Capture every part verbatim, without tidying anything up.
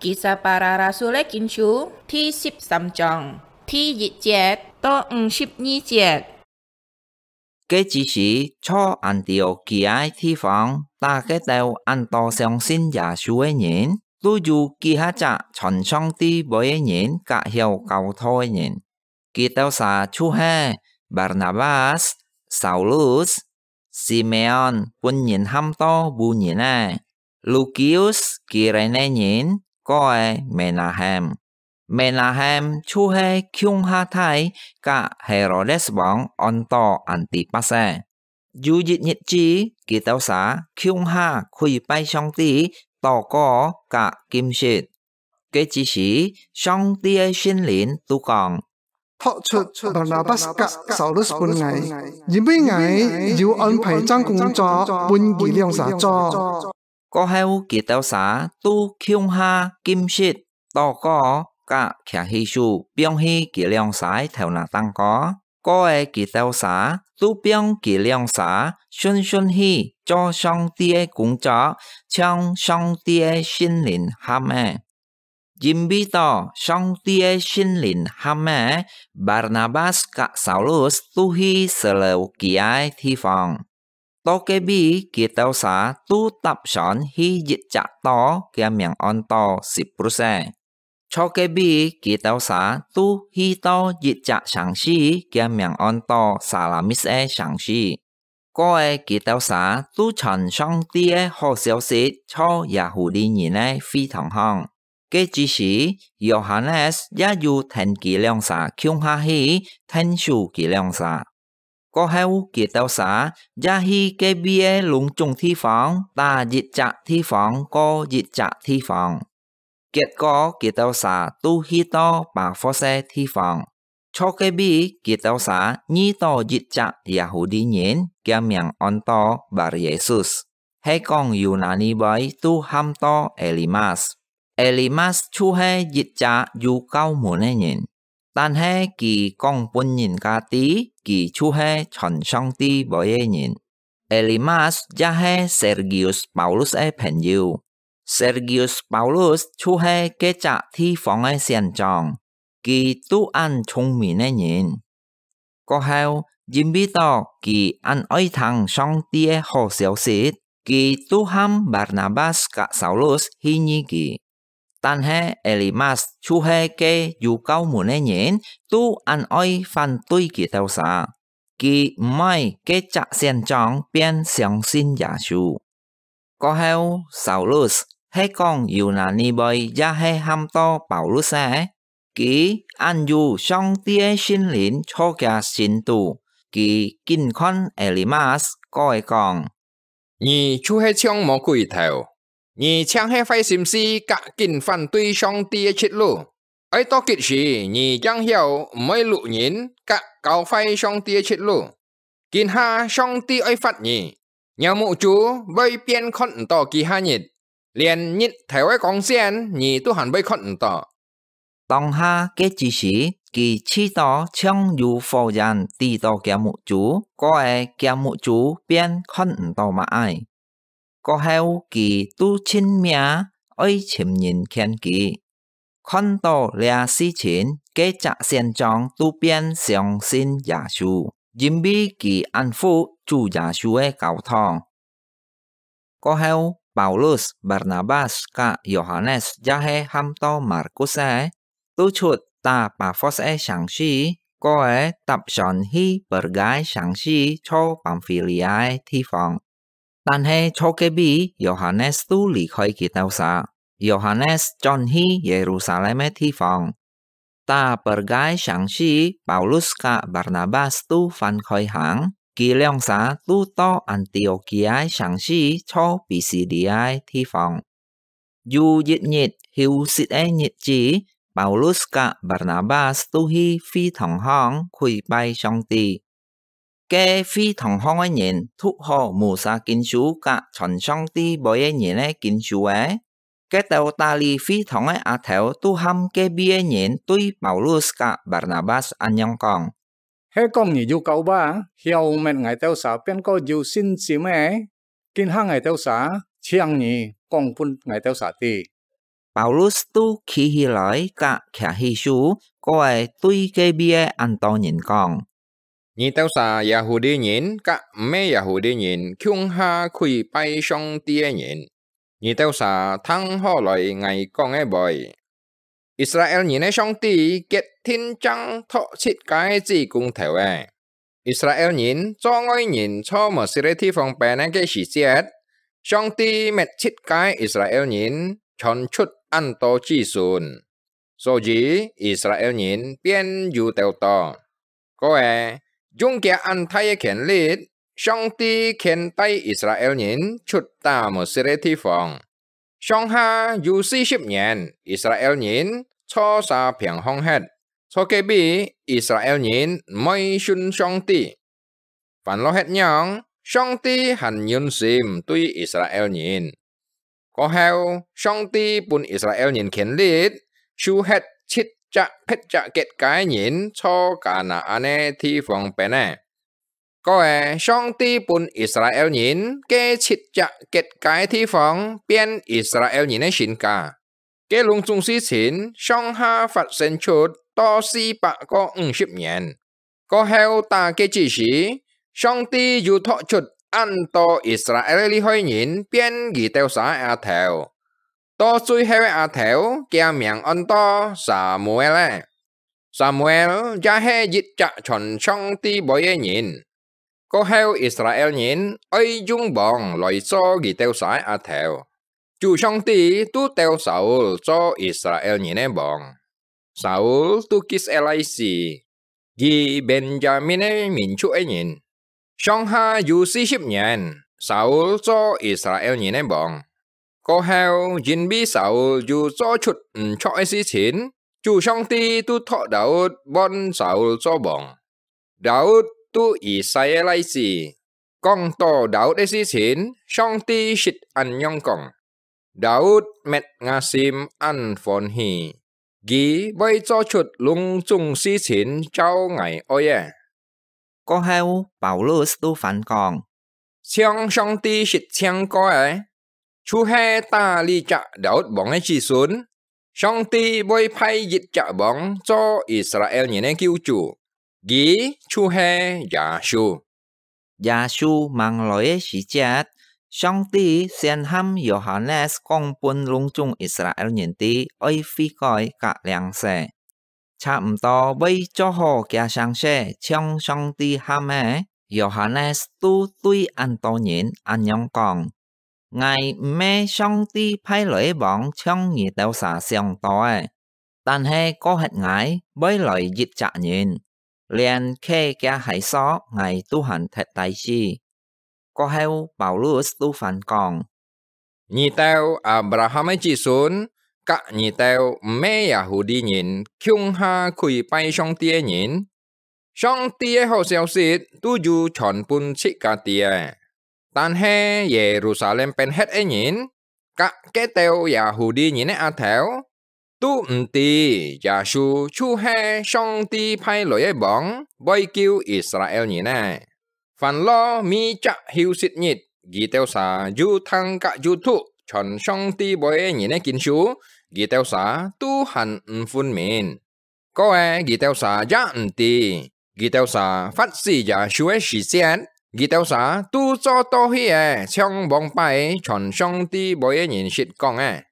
Kisah Para Rasul-é Kinsú第十三章第一節到五十二節。該之時，在安提奧基亞个地方，打該兜恁多相信耶穌个人，都有幾下隻傳上帝話个人，佮曉教導个人。佢兜儕就係Barnabas、Saulus、Simeon，分人喊到烏人仔；Lukius，基renè人，哥仔Menahem。Menahem就係共下大佮Herodes王安到Antipas个。有一日子，佢兜儕共下跪拜上帝，禱告佮禁食。該之時，上帝个聖靈都講：「托出Barnabas佮Saulus分𠊎，因為𠊎有安排正工作分佢兩儕做。」過後，佢兜儕都共下禁食、禱告佮擎起手，放去佢兩儕个頭那頂高。過仔佢兜儕都放佢兩儕順順去做上帝个工作，像上帝个聖靈喊个。因為到上帝个聖靈喊个，Barnabas佮Saulus都去Seleukia个地方。到該位，佢兜儕都搭船去一隻島，厥名安到Siprus个。在該位，佢兜儕都去到一隻城市，厥名安到Salamis个城市。過仔佢兜儕都傳上帝个好消息在Yahudi人个會堂項。該之時，Yohanes也有跈佢兩儕共下去𢯭手佢兩儕。過後，佢兜儕也去該位个攏總地方，打一隻地方過一隻地方。結果，佢兜儕都去到Pafos个地方。在該位，佢兜儕遇到一隻Yahudi人，厥名安到Bar-Yesus，係講Yunani話都喊到Elimas。Elimas就係一隻有教門个人，但係佢講分人家知，佢就係傳上帝話个人。Elimas也係Sergius Paulus个朋友。Sergius Paulus就係該隻地方个縣長，佢都恁聰明个人。過後，因為到佢恁愛聽上帝个好消息，佢都喊Barnabas佮Saulus去遇佢。但係Elimas就係該有教門个人，都恁愛反對佢兜儕。佢毋愛該隻縣長變相信耶穌。過後，Saulus，係講Yunani話也係喊到Paulus个，佢恁有上帝个聖靈在厥心肚，佢緊看Elimas，過仔講：「你就係像魔鬼頭！你淨係壞心思佮緊反對上帝个出路！愛到幾時，你正曉毋愛摝人佮搞壞上帝个出路！今下上帝愛罰你，若目珠會變看毋到幾下日，連日頭个光線你都還會看毋到。」當下該之時，佢試著像有火焰滴到厥目珠，過仔厥目珠變看毋到麼个。過後佢都盡命愛尋人勸佢。看到這事情，該隻縣長都變相信耶穌，因為佢恁服主耶穌个教堂。過後，Paulus、Barnabas佮Yohanes，也係喊到Markus个，都出打Pafos个城市，過仔搭船去Perga个城市，在Pamfilia个地方。但係在該位，Yohanes都離開佢兜儕，Yohanes轉去Yerusalem个地方。打Perga个城市，Paulus佮Barnabas都翻開行，佢兩儕都到Antiokia个城市，在Pisidia个地方。有一日休息个日子，Paulus佮Barnabas都去會堂項跪拜上帝。該會堂項个人讀好Musa經書佮傳上帝話个人个經書仔，該兜打理會堂个阿頭都喊該位个人對Paulus佮Barnabas恁樣講：「係講你有教話，曉搣𠊎兜儕變過有信心个，今下𠊎兜儕請你講分𠊎兜儕知。」Paulus都企起來，甲擎起手，過仔對該位个恁多人講：「你兜儕Yahudi人甲毋係Yahudi人共下跪拜上帝个人，你兜儕聽好來𠊎講个話。 Israel人个上帝決定正擇自家个子公頭仔。Israel人做外人坐無實个地方變个時節，上帝搣自家个Israel人傳出恁多子孫，所以Israel人變有兜多。」 過仔，用厥恁大个權力，上帝牽帶Israel人出打無實个地方。上下有四十年，Israel人坐儕平項忒，坐該位Israel人毋會信上帝。 煩惱忒樣，上帝還忍心對Israel人。過後，上帝分Israel人權力，收忒七隻別隻國家个人坐迦南个地方變个。過仔，上帝分Israel人該七隻國家个地方變Israel人个身家。 該攏總事情上下發生出到四百个五十年。過後打該之時，上帝又擇出恁多Israel个利害人變佢兜儕个阿頭。到最後个阿頭，厥名安到Samuel仔。Samuel也係一隻傳上帝話个人。 過後，Israel人愛用王來做佢兜儕个阿頭。主上帝都兜Saul做Israel人个王。Saul都Gis仔來死，佢Benjamin个民族个人。上下有四十年，Saul做Israel人个王。過後，因為Saul有做出毋著个事情，主上帝都擇Daud換Saul做王。 Daud都Isai个倈子。講到Daud个事情，上帝識恁樣講：「Daud搣吾心恁歡喜，佢會做出攏總事情照𠊎愛个。」過後，Paulus都還講：「像上帝識淨過个， 就係打這隻Daud王个子孫，上帝會派一隻王做Israel人个救主，佢就係耶穌。」耶穌吂來个時節，上帝先喊Yohanes講分攏總Israel人知愛悔改甲領洗。 差毋多會做好厥聲勢，像上帝喊个，Yohanes都對恁多人恁樣講：「𠊎毋係上帝派來个王，像你兜儕想到个，但係過歇𠊎會來一隻人，連揢厥鞋索𠊎都還忒帶死。」過後，Paulus都還講： 「你兜Abraham个子孫，甲你兜毋係Yahudi人共下跪拜上帝个人，上帝个好消息都有傳分自家知个。但係Yerusalem變忒个人，甲該兜Yahudi人个阿頭， 都毋知耶穌就係上帝派來个王，會救Israel人个。」Pharaoh每隻休息日，佢兜儕又聽甲又讀傳上帝話个人个經書，佢兜儕都還毋分明。過个佢兜儕也毋知，佢兜儕罰死耶穌个時節，佢兜儕都做到去个，像往擺傳上帝話个人識講个。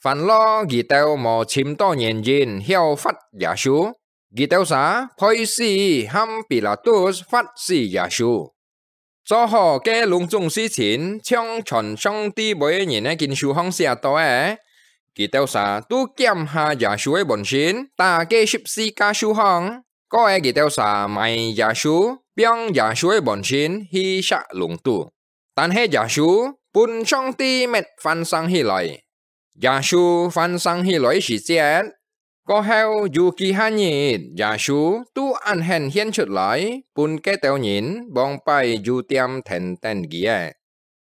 Pharaoh佢兜無尋到原因曉罰耶穌，佢兜儕背時喊Pilatus罰死耶穌。做好該攏總事情，像傳上帝話个人个經書項寫到个，佢兜儕都檢下耶穌个本身，打該十字架樹項。過个佢兜儕埋耶穌，放耶穌个本身去石籠肚。 但係耶穌分上帝搣翻生起來。耶穌翻生起來時節，過後有幾下日，耶穌都恁顯現出來，分該兜人往擺有踮跈等佢个。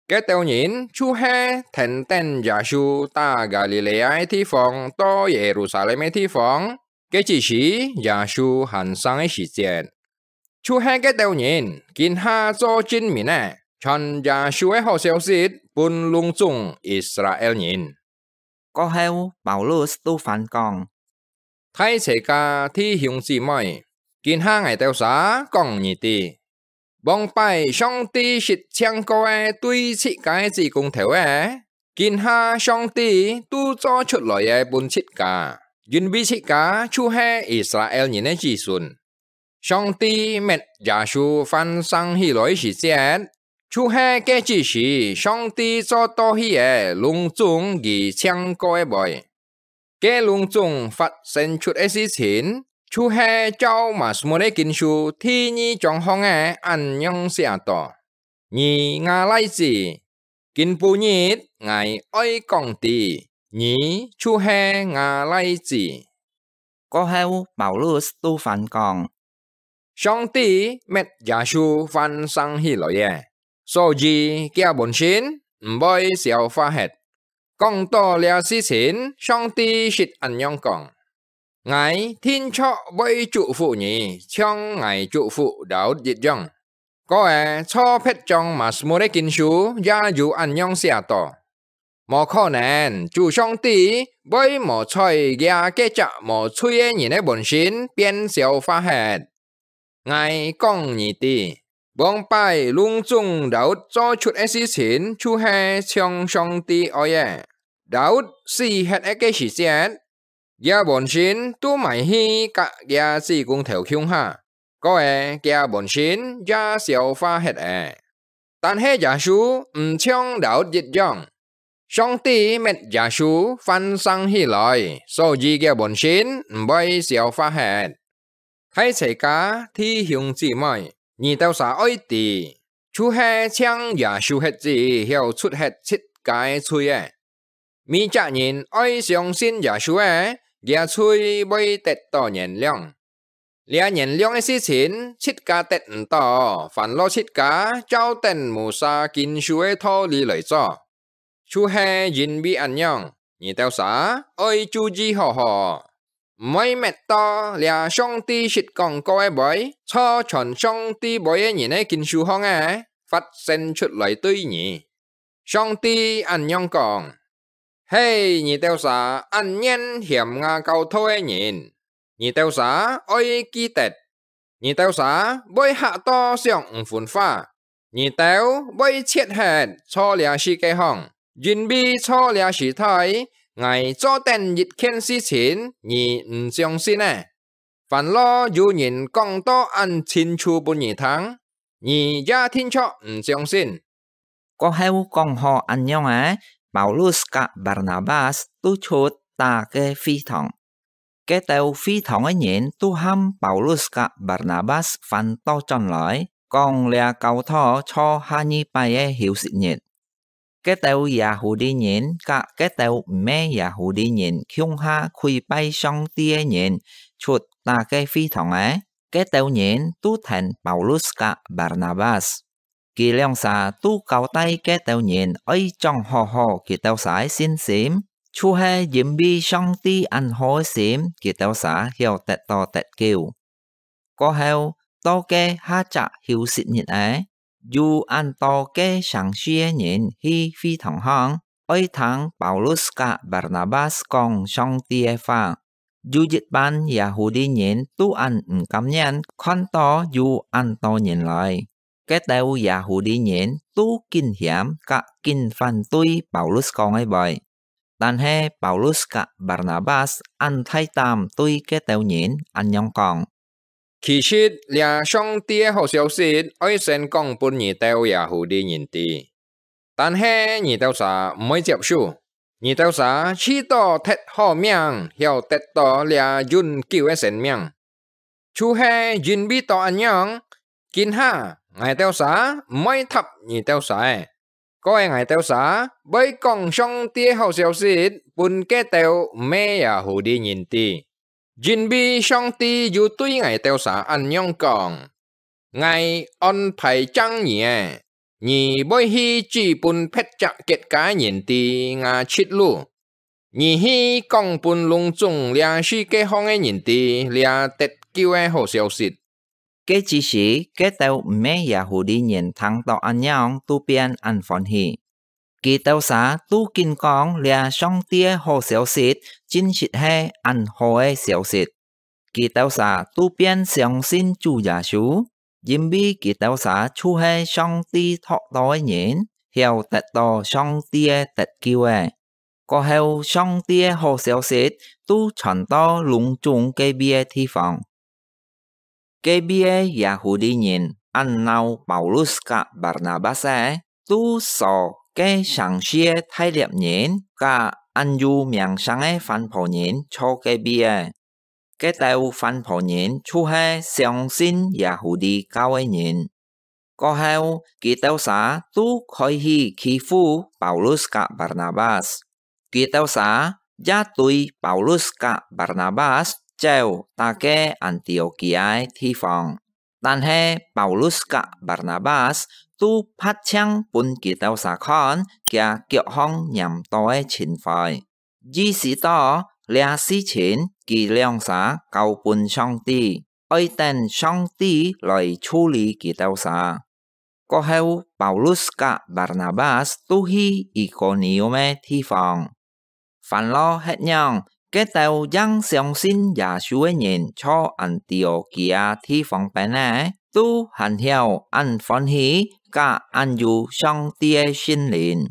該兜人就係跈等耶穌打加利利亞个地方到耶路撒冷个地方，該只時耶穌還生个時節。 就係該兜人，今下做證明个，傳耶穌个好消息分攏總Israel人。過後，Paulus都還講：大齊家弟兄姊妹，今下𠊎兜儕講你知，往擺上帝識淨過个對自家个子公頭个，今下上帝都做出來个分自家，因為自家就係以色列人个子孫。 上帝搣耶穌還生起來時節，就係該之時上帝做到去个攏總佢淨過个話。該攏總發生出个事情，就係照Mazmur个經書第二章項个恁樣寫到：你吾倈子，今晡日𠊎愛講知，你就係吾倈子。 過後，Paulus都還講：上帝搣耶穌還生起來个，所以厥本身毋會消化忒。講到這事情，上帝識恁樣講：𠊎定著會祝福你，像𠊎祝福Daud一樣。 過仔，做別章Mazmur个經書也有恁樣寫到：無可能，主上帝會無在這个隻無罪个人个本身變消化忒。𠊎講你知，往擺攏總Daud做出个事情，就係像上帝愛个。Daud死忒个時節， 厥本身都埋去佮厥子公頭共下，過仔厥本身也消化忒了。但係耶穌毋像Daud一樣，上帝搣耶穌還生起來，所以厥本身毋會消化忒。大齊家弟兄姊妹，你兜儕愛知，就係淨耶穌歇子曉除忒自家个罪个。 每隻人愛相信耶穌个，厥罪會得到原諒。這原諒个事情，自家得毋到，還落自家照等Moses經書个道理來做。就係因為恁樣，你兜儕愛注意好好，毋會搣到這上帝識講過个話，做傳上帝話个人个經書項个，發生出來對你。 上帝恁樣講：係你兜儕恁願嫌𠊎教導个人，你兜儕愛記得，你兜儕會嚇到想毋分化，你兜會絕忒做這事个項，因為做這時代，𠊎做等一件事情，你毋相信呢。 還落有人講到恁清楚分你聽，你也定著毋相信。過後講好恁樣仔，Paulus佮Barnabas都出打个會堂。該兜會堂个人都喊Paulus佮Barnabas還倒轉來，講這教導坐下二擺个休息日。 該兜Yahudi人佮該兜毋係Yahudi人共下跪拜上帝个人出打个會堂仔，該兜人都跈Paulus佮Barnabas。佢兩儕都交代該兜人愛掌好好佢兜儕个信心，就係因為上帝恁好个心，佢兜儕曉得到得救。 過後，到該下隻休息日仔，有恁多个成市个人去會堂項，愛聽Paulus佮Barnabas講上帝个話。有一班Yahudi人都恁毋甘願看到有恁多人來，該兜Yahudi人都緊嫌佮緊反對Paulus講个話。 但係Paulus佮Barnabas恁大膽對該兜人恁樣講：其實這上帝个好消息愛先講分你兜Yahudi人知，但係你兜儕毋會接受，你兜儕試著忒好命，曉得到這永久个生命。 就係因為到恁樣，今下𠊎兜儕毋會答你兜儕，過𠊎兜儕會講上帝个好消息分該兜毋係Yahudi人知，因為上帝有對𠊎兜儕恁樣講：𠊎安排正你仔， 你會去指分別隻國家个人知吾出路，你去講分攏總這世界項个人知這得救个好消息。該之時，該兜毋係Yahudi人聽到恁樣，都變恁歡喜。佢兜儕都緊講這上帝个好消息，真實係恁好个消息。佢兜儕都變相信主耶穌，因為佢兜儕就係上帝擇到个人，曉得到上帝个得救个。過後，上帝个好消息都傳到攏總該位个地方。該位个Yahudi人恁惱Paulus佮Barnabas个，都鎖該城市个大利人佮恁有名聲个番婆人坐該位个。該兜番婆人就係相信Yahudi教个人。過後，佢兜儕都開始欺負Paulus佮Barnabas。佢兜儕也對Paulus佮Barnabas走到該Antiokia个地方。但係Paulus佮Barnabas都拍正分佢兜儕看佢腳項黏到个青灰。意識到這事情佢兩儕交分上帝，愛等上帝來處理佢兜儕。過後，Paulus佮Barnabas都去Ikonium个地方。 煩惱核樣，該兜正相信耶穌个人坐Antiokia地方邊个，都還曉恁歡喜，佮恁有上帝个聖靈。